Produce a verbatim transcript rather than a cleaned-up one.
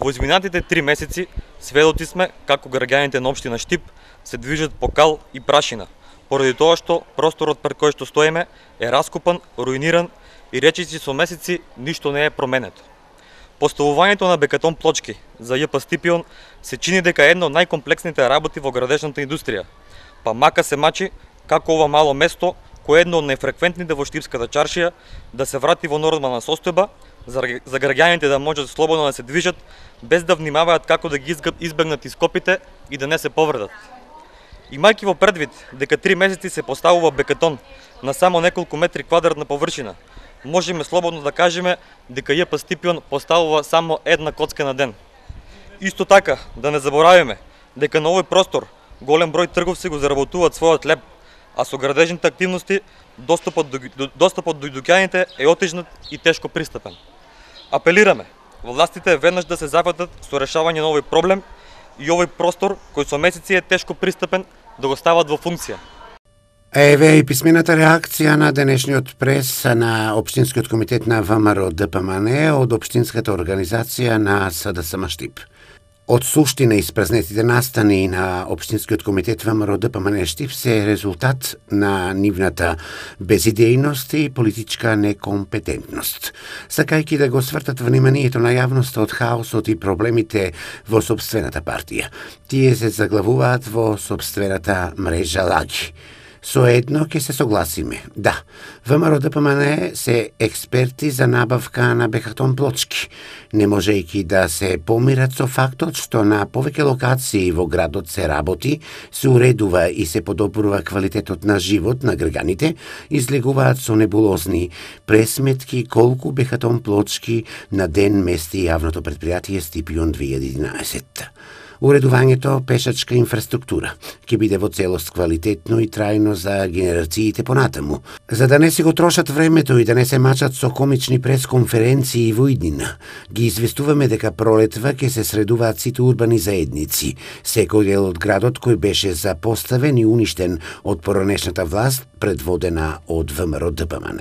Во изминатите три месеци сведоци сме како граѓаните на општина Штип се движат по кал и прашина, поради тоа што просторот пред кој што стоиме е раскопан, руиниран и речиси со месеци ништо не е променето. Поставувањето на бекатон плочки за Ј П Стипион се чини дека е едно од најкомплексните работи во градежната индустрија, па мака се мачи како ова мало место, кое е едно од најфреквентните во Штипската чаршија, да се врати во нормална состојба, за граѓаните да можат слободно да се движат, без да внимаваат како да ги избегнат ископите и да не се повредат. Имајќи во предвид дека три месеци се поставува бекатон на само неколку метри квадратна површина, можеме слободно да кажеме дека Ј П Стипион поставува само една коцка на ден. Исто така, да не заборавиме дека на овој простор голем број трговци го заработуваат својот леп, а со градежните активности достапот до, достапот до дуќаните е отежнат и тешко пристапен. Апелираме властите веднаш да се зафатат со решавање на овој проблем и овој простор кој со месеци е тешко пристапен да го стават во функција. Еве и писмената реакција на денешниот прес на Општинскиот комитет на В М Р Д П М Н од Општинската организација на С Д С М Штип. Од суштина испразнетите настани на Општинскиот комитет В М Р Д П М Н Штип се резултат на нивната безидејност и политичка некомпетентност. Сакајќи да го свртат вниманието на јавноста од хаосот и проблемите во собствената партија, тие се заглавуваат во собствената мрежа лаги. Соедно ќе се согласиме. Да, В М Р Д П М Н се експерти за набавка на бекатон плочки, не можејќи да се помират со фактот што на повеќе локации во градот се работи, се уредува и се подобрува квалитетот на живот на граѓаните, излегуваат со небулозни пресметки колку бекатон плочки на ден мести јавното предпријатие Стипион две илјади и единаесетта. Уредувањето пешачка инфраструктура ќе биде во целост квалитетно и трајно за генерациите понатаму, за да не си го трошат времето и да не се мачат со комични пресконференции во иднина. Ги известуваме дека пролетва ќе се средуваат сите урбани заедници, секој дел од градот кој беше запоставен и уништен од поранешната власт предводена од В М Р Д П М Н.